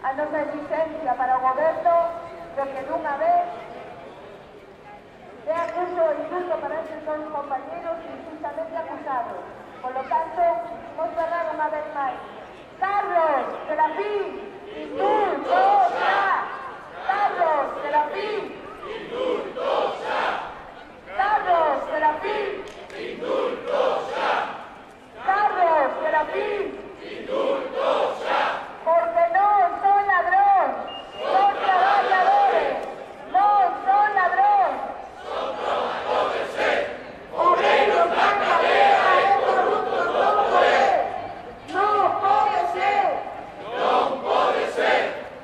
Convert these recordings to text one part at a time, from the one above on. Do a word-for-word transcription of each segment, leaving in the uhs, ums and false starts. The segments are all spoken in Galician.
a nosa exigencia para o goberno de que dunha vez dé acuso e indulto para estes dous compañeros injustamente acusados. Por lo tanto, vos cerrar unha vez máis. Carlos Serafín, indulto xa! Carlos Serafín, indulto xa! Carlos Serafín, indulto xa! Carlos Serafín, indulto xa! Porque non son ladróns, son traballadores, non son ladróns. Son trabajadores, obreiros na cadea e corruptos no poder. Non pode ser, non pode ser,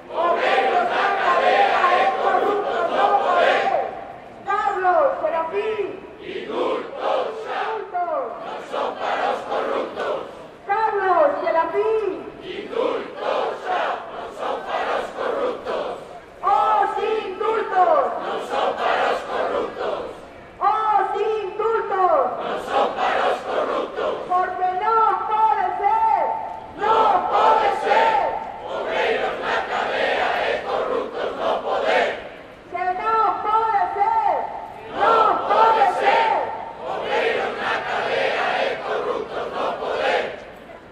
obreiros na cadea e corruptos no poder. Carlos Serafín, indultos xa, non son para os corruptos. Carlos Serafín, indultos xa, non son para os corruptos. Os indultos non son para os corruptos. Os indultos non son para os corruptos. Porque non pode ser, non pode ser, obreiros na cadea e corruptos no poder. Que non pode ser, non pode ser, obreiros na cadea e corruptos no poder.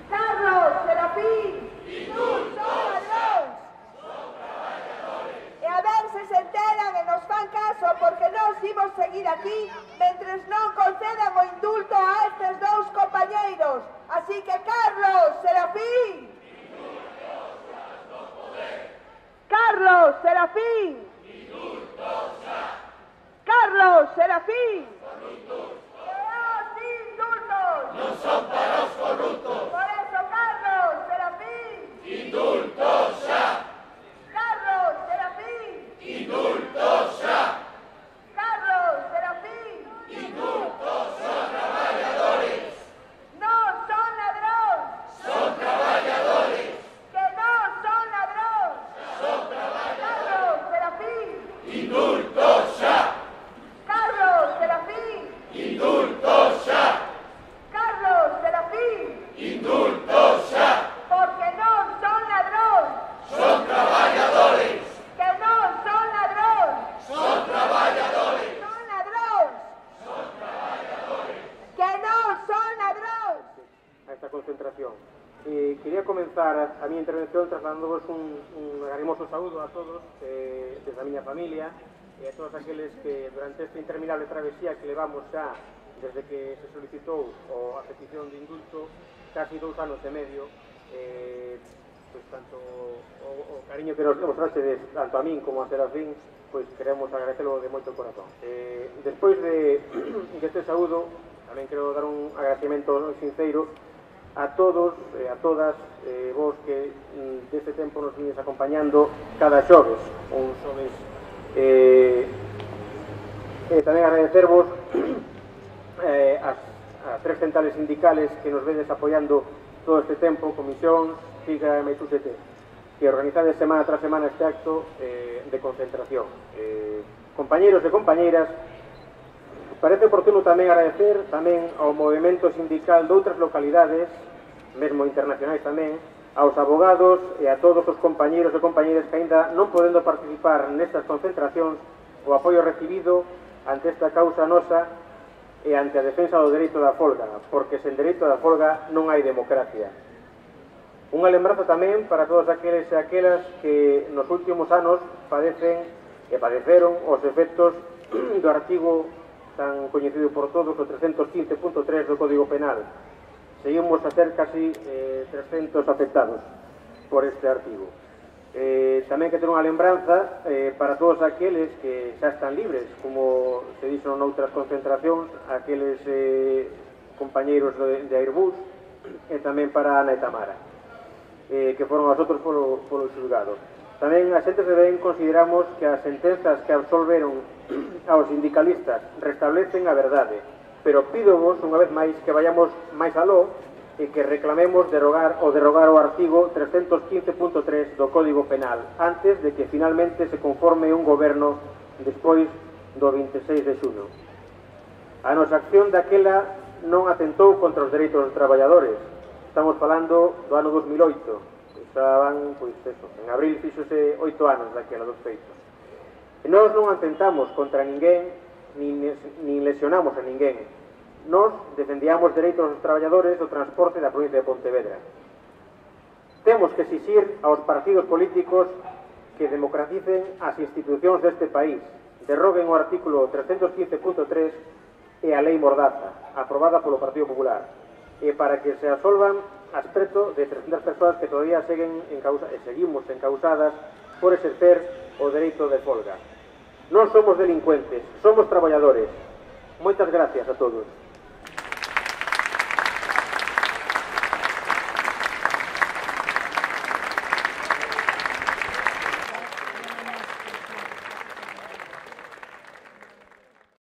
Carlos Serafín, indultos ladróns. Son traballadores. E a ver se se enteran e nos fan caso, porque nós imos seguir aquí mentres non concedan o indulto a estes dous compañeiros. Así que Carlos Serafín, indultos no poder. Carlos Serafín, indultos xa. Carlos Serafín, corruptos. E os indultos non son para os corruptos. Por eso, Carlos Serafín, indultos xa. Carlos Serafín, indultos xa. Carlos Serafín, indultos. Son traballadores. Non son ladróns. Son traballadores. Que non son ladróns. Son traballadores. Carlos Serafín, indultos xa. Carlos Serafín, indultos xa. Carlos Serafín, indultos xa. Porque non son ladróns. Son traballadores. Que non son ladróns. Son traballadores. Son ladróns. Son traballadores. Que non son ladróns. A esta concentración. Eh, quería comenzar a, a mi intervención trasladándoos un, un agarimoso saúdo a todos eh, desde a miña familia e a todos aqueles que durante esta interminable travesía que levamos xa desde que se solicitou o a petición de indulto casi dous anos e medio, eh, pois tanto o, o cariño que nos mostrastedes tanto a min como a Serafín, pois queremos agradecelo de moito corazón. Eh, despois de, de este saúdo tamén quero dar un agradecemento sinceiro a todos e a todas eh, vos que mm, deste tempo nos vides acompañando cada xoves, un xoves eh, e tamén agradecervos eh, as, as tres centrales sindicales que nos vedes apoiando todo este tempo, Comisión, Siga e Maitú C T, que organizades semana tras semana este acto eh, de concentración. Eh, compañeros e compañeiras, parece oportuno tamén agradecer tamén ao movimento sindical de outras localidades, mesmo internacionais tamén, aos abogados e a todos os compañeros e compañeiras que aínda non podendo participar nestas concentracións o apoio recibido ante esta causa nosa e ante a defensa do dereito da folga, porque sen dereito da folga non hai democracia. Unha lembranza tamén para todos aqueles e aquelas que nos últimos anos padecen e padeceron os efectos do artigo tan coñecido por todos, o trescentos quince punto tres do Código Penal. Seguimos a ser casi eh, trescentos afectados por este artigo. Eh, tamén que ter unha lembranza eh, para todos aqueles que xa están libres, como se dixo noutras concentracións, aqueles eh, compañeiros de, de Airbus, e tamén para Ana e Tamara, eh, que foron as outros polo, polo xulgado. Tamén a xente se ben consideramos que as sentenzas que absolveron aos sindicalistas restablecen a verdade, pero pídovos unha vez máis que vayamos máis aló e que reclamemos derogar o derrogar o artigo trescentos quince punto tres do Código Penal antes de que finalmente se conforme un goberno despois do vinte e seis de xuño. A nosa acción daquela non atentou contra os dereitos dos traballadores. Estamos falando do ano dos mil oito. xa van, pois, eso, en abril fixose oito anos daquela dos feitos. E nós non atentamos contra ninguén, nin, nin lesionamos a ninguén. Nós defendíamos dereitos dos traballadores do transporte da provincia de Pontevedra. Temos que exixir aos partidos políticos que democraticen as institucións deste país, derroguen o artículo trescentos quince punto tres e a Lei Mordaza, aprobada polo Partido Popular, e para que se asolvan aspecto de trescentas persoas que todavía seguen en causa, e seguimos encausadas por exercer o dereito de folga. Non somos delincuentes, somos traballadores. Moitas gracias a todos.